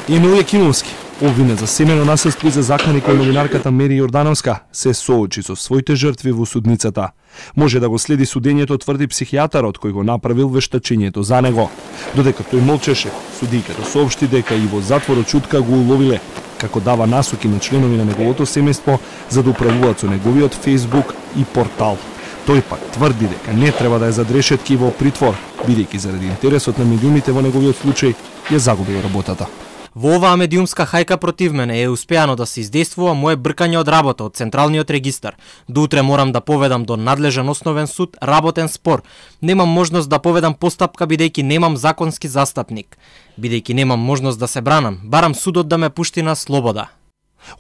Емил Јакимовски, обвинет за семено насилство и за закани кој новинарката Мери Јордановска, се соочи со своите жртви во судницата. Може да го следи судењето, тврди психијатарот кој го направил вештачењето за него. Додека тој молчеше, судијката соопшти дека и во затворот чутка го уловиле, како дава насоки на членови на неговото семејство за да управуваат со неговиот Facebook и портал. Тој пак тврди дека не треба да е зад решетки во притвор, бидејќи заради интересот на медиумите во неговиот случај ја загубил работата. Во оваа медиумска хајка против мене е успеано да се издействува мое бркање од работа од Централниот регистар. До утре морам да поведам до надлежен основен суд работен спор. Немам можност да поведам постапка бидејќи немам законски застапник. Бидејќи немам можност да се бранам, барам судот да ме пушти на слобода.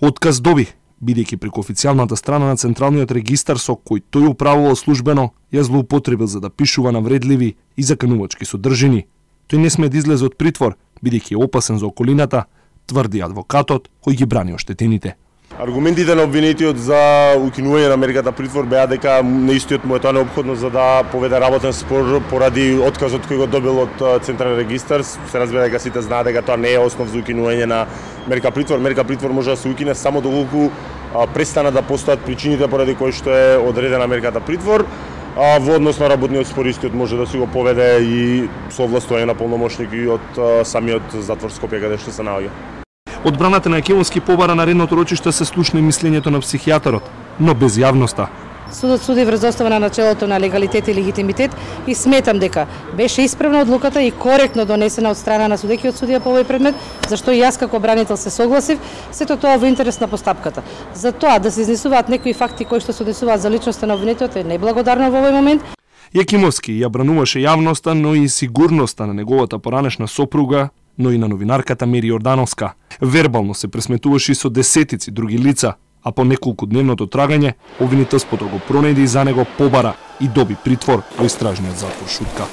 Отказ доби, бидејќи преку официјалната страна на Централниот регистар со кој тој управувал службено, ја злоупотребил за да пишува навредливи и заканувачки содржини. Тој не сме да излезе од притвор, бидејќи е опасен за околината, тврди адвокатот кој ги брани оштетените. Аргументите на обвинетиот за укинување на мерката притвор беа дека неистиот му е тоа неопходно за да поведе работен спор поради отказот кој го добил од Централен регистар. Се разбира дека сите знаат дека тоа не е основ за укинување на мерка притвор. Мерка притвор може да се укине само доколку престана да постојат причините поради кои што е одредена мерката притвор. Во однос на работниот спор истиот може да се го поведе и со овластување на полномошник и од самиот затвор Скопје каде што се наоѓа. Одбраната на Јакимовски побара на редното рочиште се слушна мислењето на психијатарот, но без јавноста. Судот суди врз основа на начелото на легалитет и легитимитет и сметам дека беше исправна одлуката и коректно донесена од страна на судекиот судија по овој предмет, зашто и јас како бранител се согласив, сето тоа во интерес на постапката. За тоа да се изнесуваат некои факти кои што се однесуваат за личноста на обвинетиот е неблагодарно во овој момент. Јакимовски ја брануваше јавноста, но и сигурноста на неговата поранешна сопруга, но и на новинарката Мери Јордановска. Вербално се пресметуваше и со десетици други лица, а по неколку дневното трагање, обвинителството го пронајде и за него побара и доби притвор во истражниот затвор Шутка.